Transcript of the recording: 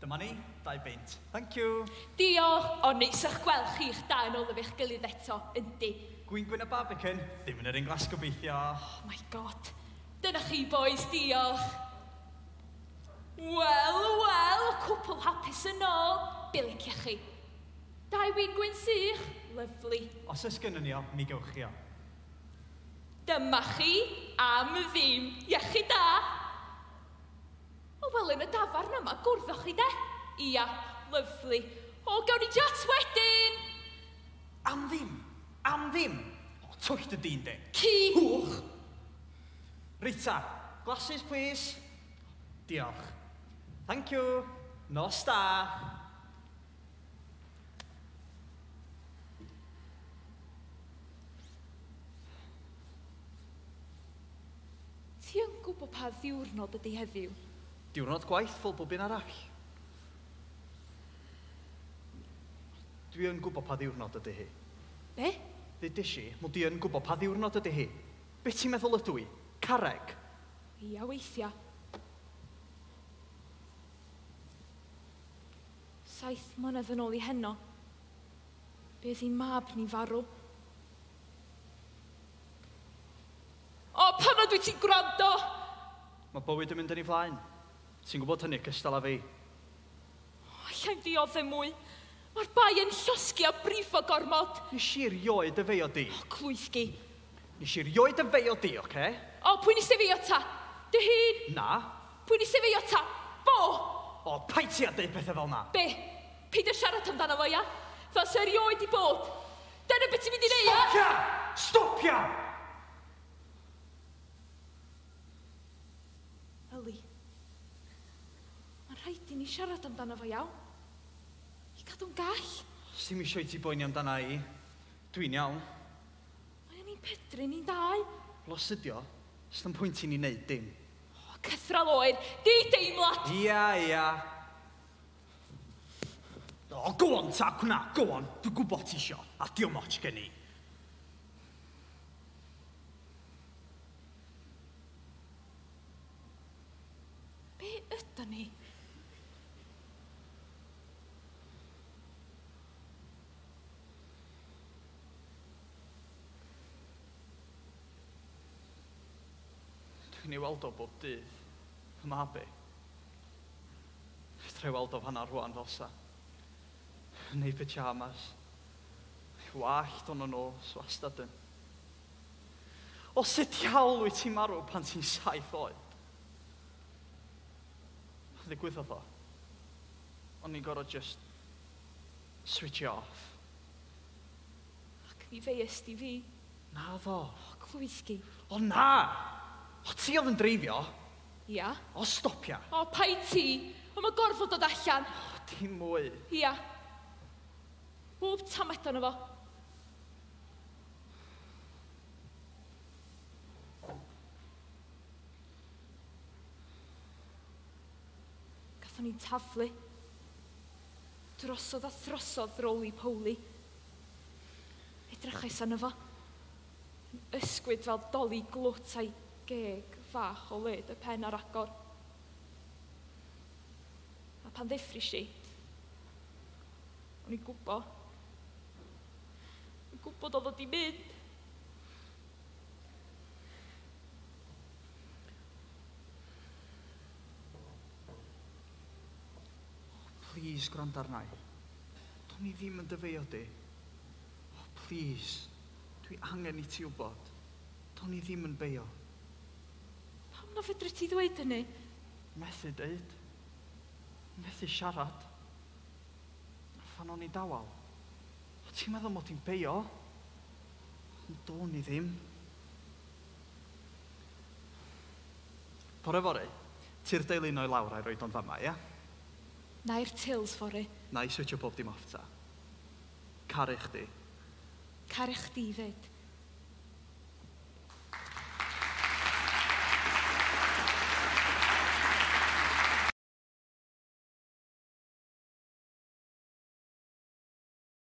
Dyma ni, 2 beint. Thank you. Diolch, o neis o'ch gweld chi'ch da yn ôl efo'ch gilydd eto, yndi. Gwin gwyn a Barbican, ddim yn yr un glas gobeithio. Oh my God. Dyna chi, boys, diolch. Wel, wel, cwpl hapus yn ôl. Be liciach chi? 2 win gwyn sych, lyfli. Os oes gynnon ni o, mi gewch chi o. Dyma chi, am ddim, iechyd da. O, wel, yn y dafarn yma, gwrddoch chi de? Ia, lyfli. O, gawn ni chat wedyn. Am ddim, am ddim. O, twll dy dyn de. Ci. Hwch. Rita, glasses please. Diolch. Thank you. Nos da. Ti yn gwybod pa ddiwrnod ydy heddiw? Diwrnod gwaith fel bob un arall. Dwi yn gwybod pa ddiwrnod ydy hi. Be? Ddudes i, mod i yn gwybod pa ddiwrnod ydy hi. Be ti'n meddwl ydw i? Carreg? Ia, weithiau. 7 mlynedd yn ôl i heno, be oedd hi'n mab ni farw. O, pan nad wyt ti'n gwrando? Mae bywyd yn mynd yn ei flaen. Ti'n gwybod hynny cystal â fi. O, allai'm dioddef mwy. Mae'r bai yn llosgi a brifo gormod. Nes i erioed y feio di. O, clwythgi. Nes i erioed y feio di, oce? O, pwy nes i feio ta? Dy hun? Na. Pwy nes i feio ta? Fo? O, paid ti a deud pethau fel na. Be? Paid â siarad amdano fo, ia? Fel se erioed i bod. Dyna beth ti'n mynd i neud, ia? Stopia! Stopia! Yli, mae'n rhaid i ni siarad amdano fo, iawn? I gadw'n gall. Sdim isio i ti boeni amdana i. Dwi'n iawn. Mae o'n i'n pydru ni'n dau. Wel, os ydi o, sdim pwynt i ni wneud dim. O, cythral oer, di deimlad! Ia, ia. O, go on ta, cwna, go on. Dwi'n gwybod ti isio, a diom ots gen i. Be ydan ni? Dwi'n ei weld o bob dydd, fy mab i. Fedra i weld o fan'na rŵan fel sa. Yn ei pyjamas. Ei wallt o'n y nos, wastad yn. O, sut diawl wyt ti'n marw pan ti'n 7 oed? Pan ddigwyddodd o, o'n i'n gorfod just switch off. Ac mi feies di fi. Na ddo. O, clwythgi. O na! O, ti oedd yn dreifio? Ia. O, stopia. O, paid ti. O, mae gorfod dod allan. O, dim mwy. Ia. Bob tamed ono fo. Gathon ni'n taflu. Drosodd a throsodd roly-poly. Edrychais arno fo. Yn ysgwyd fel doli glwt a'i geg fach o led y pen ar agor. A pan ddeffris i, o'n i'n gwybod. O'n i'n gwybod oedd o di mynd. Oh, please, gwrando arna i. Do'n i ddim yn dyfeio di. Oh, please, dwi angen i ti wybod. Do'n i ddim yn beio. Pam na fedri ti ddweud hynny? Methu deud. Methu siarad. Phan o'n i dawel. O, ti'n meddwl mod i'n beio? Ond do'n i ddim. Bore fory, ti'r deulu noi lawr a'i roed o'n fama, ia? Na i'r tills fory. Na i switio bob dim off ta. Caru chdi. Caru chdi fyd.